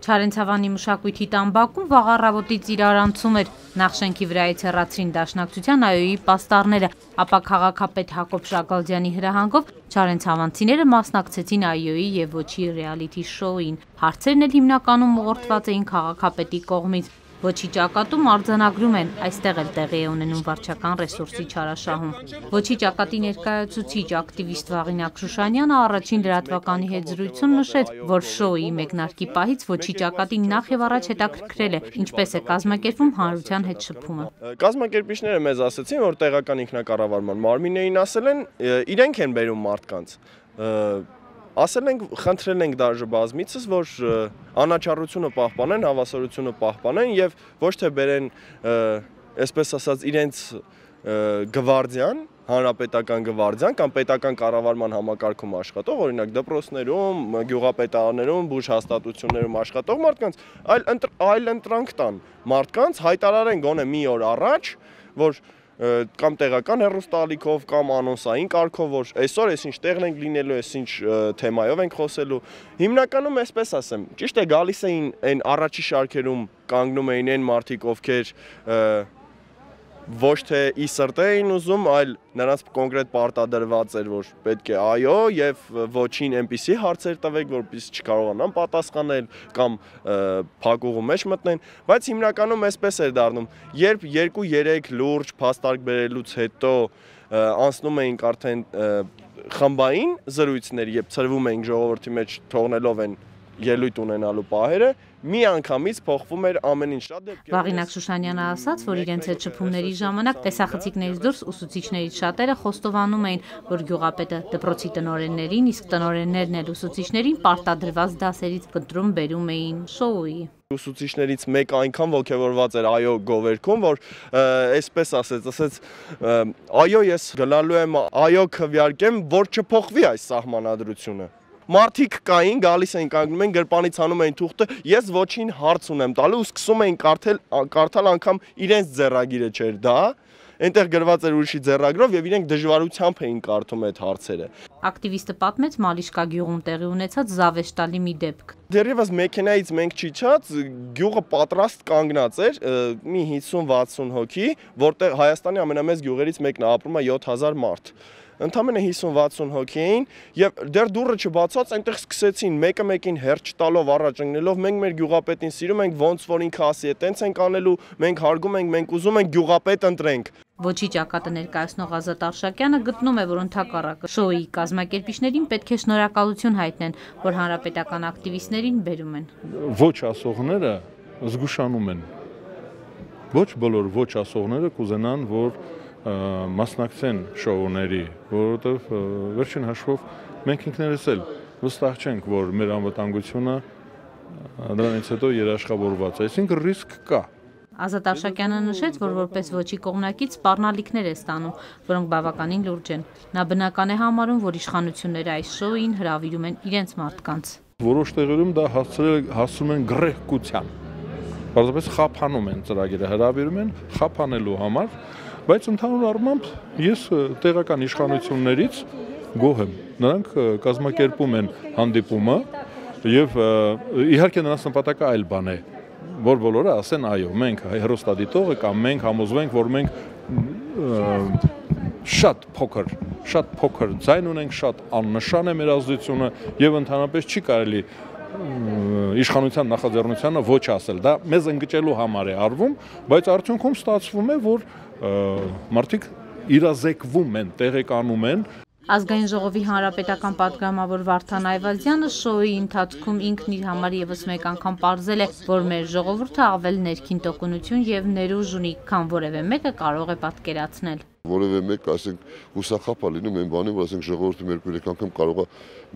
Չարենցավանի մշակույթի տան բակում վաղ առավոտից իրարանցում էր, նախ շենքի վրայից հեռացրին Դաշնակցության ԱՅՈ-ի պաստառները, ապա քաղաքապետ Հակոբ Շագալդյանի հրահանգով չարենցավանցիները մասնակցեցին ԱՅՈ-ի և Ոչի ռեալիթի շոուին, հարցերն էլ հիմնականում ուղղորդված էին քաղաքապետի կողմից, Ոչի ճակատում արձանագրում են, այստեղ էլ տեղի է ունենում վարչական ռեսուրսի չարաշահում։ Ոչի ճակատի ներկայացուցիչ ակտիվիստ Վաղինակ Շուշանյանը առաջին լրատվականի հետ զրույցում նշեց, որ շոուի մեկնարկի պահից Ոչի ճակատին նախ եւ առաջ հետաքրքրել է, ինչպես է կազմակերպվում հանրության հետ շփումը։ Կազմակերպիչները մեզ ասացին, որ տեղական ինքնակառավարման մարմիններին ասել են, իրենք են բերում մարդկանց։ Ասել ենք, խնդրել ենք դաժե բազմիցս, որ անաչառությունը պահպանեն, հավասարությունը պահպանեն եւ ոչ թե բերեն, այսպես ասած, իրենց գվարդիան, հանրապետական գվարդիան կամ պետական կառավարման համակարգում աշխատող, օրինակ դպրոցներում, գյուղապետարաններում, բուժհաստատություններում աշխատող մարդկանց, այլ ընտրանք տան մարդկանց, հայտարարեն գոնե մի օր առաջ, որ կամ տեղական հեռուստաալիքով կամ անոնսային կարգով, որ այսօր այսինչ տեղն ենք լինելու, այսինչ թեմայով ենք խոսելու։ Հիմնականում այսպես ասեմ, ճիշտ է գալիս էին այն առաջի շարքերում կանգնում էին այն մարդիկ, ովքեր ոչ թե ի սրտե էին ուզում, այլ նրանց կոնկրետ պարտադրված էր, որ պետք է այո եւ ոչին այնպիսի հարցեր տվեք, որպեսզի չկարողանան պատասխանել կամ փակուղու մեջ մտնեն, բայց հիմնականում այսպես էր դառնում, երբ 2-3 լուրջ փաստարկ բերելուց հետո անցնում էինք արդեն խմբային զրույցներ, երբ ծրվում էինք ժողովրդի մեջ թողնելով են ելույթ ունենալու պահերը, մի անգամից փոխվում էր ամեն ինչ։ Վաղինակ Շուշանյանը ասաց, որ իրենց հետ շփումների ժամանակ տեսախցիկներից դուրս ուսուցիչներից շատերը խոստովանում էին, որ գյուղապետը դպրոցի տնօրեններին, իսկ տնօրեններն էլ ուսուցիչներին պարտադրված դասերից կտրում բերում էին շոուի։ Ուսուցիչներից մեկ այնքան ոգևորված էր այո գովերքում, որ այսպես ասեց, այո ես գնալու եմ այո քվեարկեմ, որ չփոխվի այս սահմանադրությունը։ Մարդիկ կային, գալիս էին կանգնում են, գրպանից հանում էին թուղթը, ես ոչին հարց ունեմ տալու ու սկսում էին կարդալ անգամ իրենց ձեռագիրը չէր դա, այնտեղ գրված էր ուրիշի ձեռագրով եւ իրենք դժվարությամբ էին կարդում այդ հարցերը։ Ակտիվիստը պատմեց Մալիշկա գյուղում տեղի ունեցած զավեշտալի մի դեպք։ Դեռևս մեքենայից մենք չիջած, գյուղը պատրաստ կանգնած էր, մի 50-60 հոգի, որտեղ Հայաստանի ամենամեծ գյուղերից մեկն է, ապրում է 7000 մարդ։ Ընդամենը 50-60 հոգի էին եւ դեռ դուռը չբացած այնտեղ սկսեցին մեկը մեկին հերթ տալով առաջ ընկնելով մենք մեր գյուղապետին սիրում ենք ոնց որ ինքը ասի է տենց ենք անելու մենք հարգում ենք մենք ուզում ենք գյուղապետ ընտրենք։ Ոչի ճակատը ներկայացնող Ազատ Արշակյանը գտնում է, որ ընդհակառակը շոուի կազմակերպիչներին պետք է շնորհակալություն հայտնեն, որ հանրապետական ակտիվիստներին բերում են։ Ոչ ասողները զգուշանում են։ Ոչ բոլոր ոչ ասողները կուզենան, որ մասնակցեն շոուների, որովհետև վերջին հաշվով մենք ինքներս էլ վստահ չենք, որ մեր անվտանգությունը դրանից հետո երաշխավորված է, այսինքն ռիսկ կա։ Ազատ Արշակյանը նշեց, որ որպես ոչի կողմնակից սպառնալիքներ է ստանում, որոնք բավականին լուրջ են։ Նա բնական է համարում, որ իշխանությունները այս շոուին հրավիրում են իրենց մարդկանց։ Որոշ տեղերում դա հասցնում են գրեհկության։ Պարզապես խափանում են ծրագիրը, հրավիրում են խափանելու համար, բայց ընդհանուր առմամբ ես տեղական իշխանություններից գոհ եմ։ Նրանք կազմակերպում են հանդիպումը եւ իհարկե նրանց նպատակը այլ բան է, որ բոլորը ասեն այո, մենք հեռուստադիտողը կամ մենք համոզվենք, որ մենք շատ փոքր ձայն ունենք, շատ աննշան է մեր ազդեցությունը եւ ընդհանրապես չի կարելի իշխանության նախաձեռնությանը ոչ ասել, դա մեզ ընկճելու համար է արվում, բայց արդյունքում ստացվում է, որ մարդիկ իրազեկվում են, տեղեկանում են։ Ազգային ժողովի հանրապետական պատգամավոր Վարդան Այվազյանը շոուի ընթացքում ինքն իր համար եւս մեկ անգամ պարզել է, որ մեր ժողովուրդը ավել ներքին տոկունություն եւ ներուժ ունի, քան որևէ մեկը կարող է պատկերացնել։ Որևէ մեկ, ասենք, հուսախապ է լինում այն բանի, որ ասենք ժողովուրդը 2-3 անգամ կարող է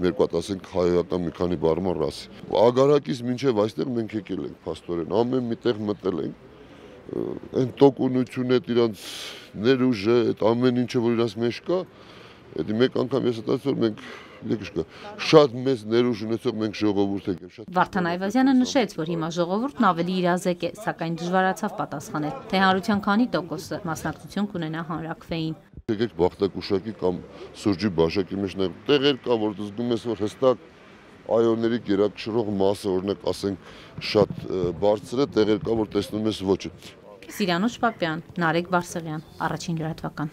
մեր կողմից ասենք հայական մի քանի բառը ասի։ Ագարակից մինչև այստեղ մենք եկել ենք փաստորեն, ամեն մի տեղ մտել ենք։ Այն տոկունությունը, իրանց ներուժը, այդ ամեն ինչը որ իրանց մեջ կա, այդ մեկ անգամ ես ասացի, որ մենք շատ մեծ ներուժ ունեցող մենք ժողովուրդ ենք։ Վարդան Այվազյանը նշեց, որ հիմա ժողովուրդն ավելի իրազեկ է, սակայն դժվարացավ պատասխանել, թե հանրության քանի տոկոսը մասնակցություն կունենա հանրաքվեին։ Եկեք Բախտակուշակի կամ Սուրճի բաշակի մեջ նայեք, տեղեր կա, որ զգում ես, որ հստակ այոների գերակշռող մասը, օրինակ ասենք, շատ բարձր է, տեղեր կա, որ տեսնում ես ոչը։ Սիրանուշ Պապյան, Նարեկ Բարսեղյան, Առաջին լրատվական։